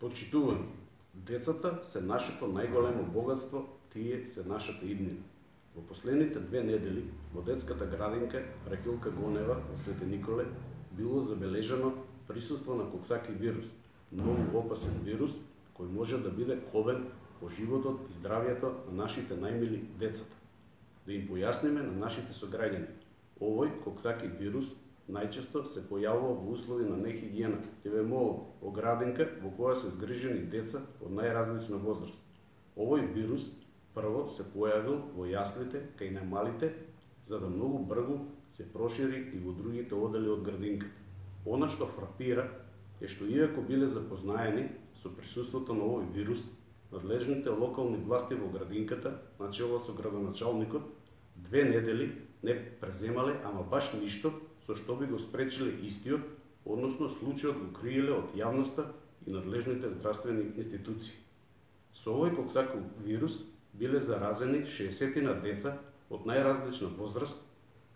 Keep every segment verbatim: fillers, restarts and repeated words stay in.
Почитувани, децата се нашето најголемо богатство, тие се нашата иднина. Во последните две недели во детската градинка Рахилка Гонева во Свети Николе било забележано присуство на коксаки вирус, многу опасен вирус кој може да биде кобен по животот и здравието на нашите најмили децата. Да им појасниме на нашите сограѓани, овој коксаки вирус најчесто се појавува во услови на нехигиена, ќе ве молам, во градинка во која се згрижени деца од најразлична возраст. Овој вирус прво се појавил во јаслите кај најмалите, за да многу брзо се прошири и во другите одели од градинка. Она што фрапира е што иако биле запознаени со присуството на овој вирус, надлежните локални власти во градинката, начело со градоначалникот, две недели не преземале ама баш ништо со што би го спречиле истиот, односно случајот го криеле од јавноста и надлежните здравствени институции. Со овој коксаков вирус биле заразени шеесетина деца од најразлична возраст,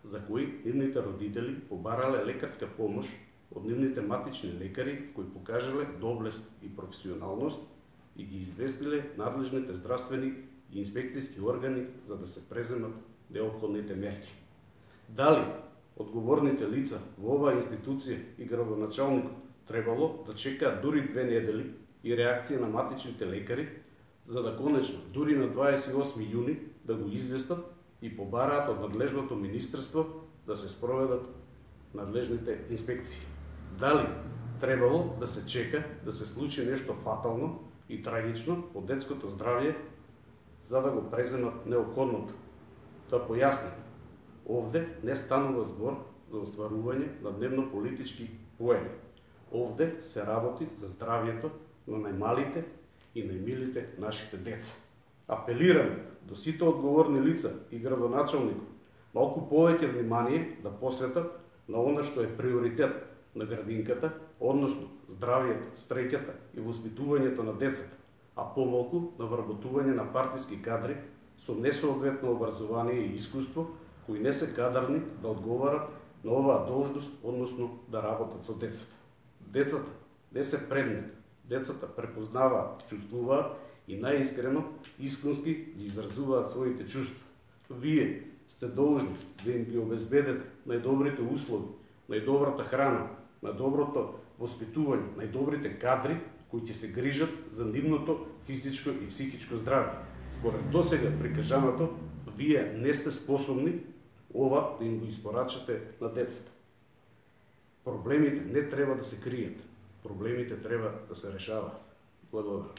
за кои нивните родители побарале лекарска помош од нивните матични лекари кои покажале доблест и професионалност и ги известиле надлежните здравствени и инспекцијски органи за да се преземат неопходните мерки. Дали одговорните лица во оваа институција и градоначалникот требало да чекаат дури две недели и реакција на матичните лекари, за да конечно дури на дваесет и осми јуни да го известат и побараат од надлежното министерство да се спроведат надлежните инспекции. Дали требало да се чека да се случи нешто фатално и трагично по детското здравје за да го преземат неопходното? Да појасним, овде не станува збор за остварување на дневно-политички поени. Овде се работи за здравјето на најмалите и најмилите нашите деца. Апелираме до сите одговорни лица и градоначалникот малку повеќе внимание да посветат на она што е приоритет на градинката, односно здравјето, среќата и воспитувањето на децата, а помалку на вработување на партиски кадри со несоодветно образование и искуство, кои не се кадарни да одговарат на оваа должност, односно да работат со децата. Децата не се предмет, децата препознаваат, чувствуваат и најискрено, искренски ги изразуваат своите чувства. Вие сте должни да им ги обезбедете најдобрите услови, најдобрата храна, најдоброто воспитување, најдобрите кадри кои ќе се грижат за нивното физичко и психичко здравје. Според досега прикажаното, вие не сте способни ова да им го испорачате на децата. Проблемите не треба да се кријат, проблемите треба да се решаваат. Благодарам.